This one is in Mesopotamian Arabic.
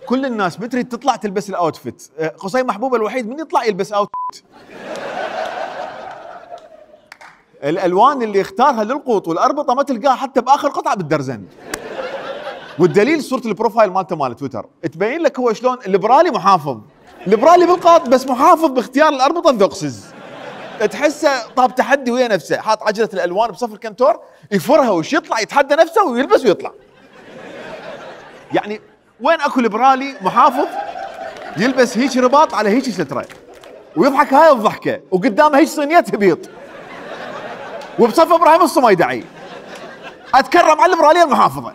كل الناس متري تطلع تلبس الاوتفيت، قصي محبوب الوحيد من يطلع يلبس اوتفيت. الالوان اللي اختارها للقوط والاربطه ما تلقاها حتى باخر قطعه بالدرزن. والدليل صوره البروفايل مالته مال تويتر تبين لك هو شلون ليبرالي محافظ، ليبرالي بالقاط بس محافظ باختيار الاربطه الذقسز. تحسه طاب تحدي ويا نفسه، حاط عجله الالوان بصف الكنتور يفرها وش يطلع يتحدى نفسه ويلبس ويطلع. يعني وين اكو ليبرالي محافظ يلبس هيك رباط على هيك ستره ويضحك هاي الضحكه وقدامه هيك صينيه هبيط وبصف ابراهيم الصميدعي. اتكرم على الليبراليه المحافظه.